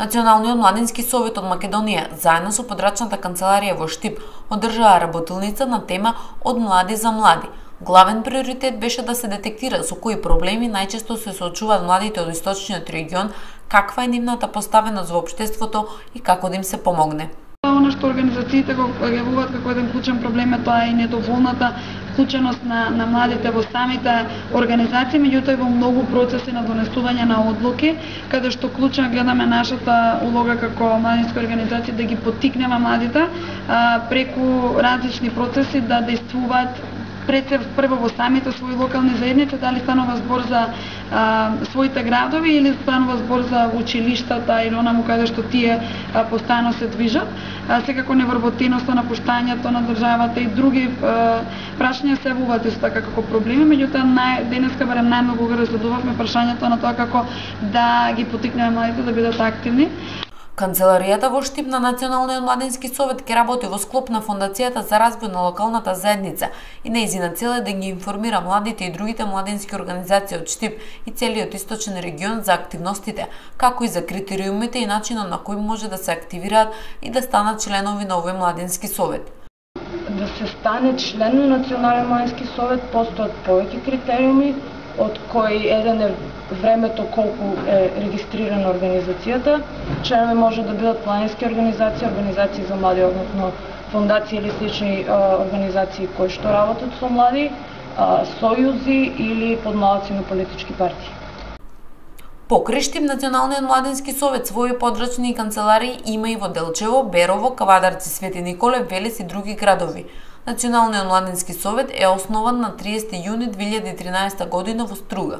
Националниот младински совет од Македонија, заедно со подрачната канцеларија во Штип, одржаа работилница на тема Од млади за млади. Главен приоритет беше да се детектира со кои проблеми најчесто се соочуваат младите од источниот регион, каква е нивната поставеност во општеството и како да им се помогне. Она што организациите го јавуваат како еден клучен проблем е тоа и недоволната вклученост на младите во самите организации, меѓутоа и во многу процеси на донесување на одлуки, каде што клучно гледаме нашата улога како младински организации да ги поттикнеме младите преку различни процеси да действуваат прво во самите своји локални заедници, дали станува збор за своите градови или станува збор за училиштата или онаму каде што тие постојано се движат. Секако невработеноста, напуштањето на државата и други прашања се јавуваат исто така како проблеми, меѓутоа денеска барем најмногу го разгледувавме прашањето на тоа како да ги поттикнеме младите да бидат активни. Канцеларијата во Штип на Националниот младински совет ќе работи во склоп на Фондацијата за развој на локалната заедница и нејзина цел е да ги информира младите и другите младински организации од Штип и целиот источен регион за активностите, како и за критериумите и начинот на кој може да се активираат и да станат членови на овој младински совет. Да се стане член на Национален младински совет постојат повеќе критериуми, од кои еден е времето колку е регистрирана организацијата. Членови може да бидат планински организации, организации за млади, односно фондации или слични организации кои што работат со млади, сојузи или подмладаци на политички партии. Покрај Штип, Националниот младински совет своји подрачни канцеларии има и во Делчево, Берово, Кавадарци, Свети Николе, Велес и други градови. Националниот младински совет е основан на 30 јуни 2013 година во Струга.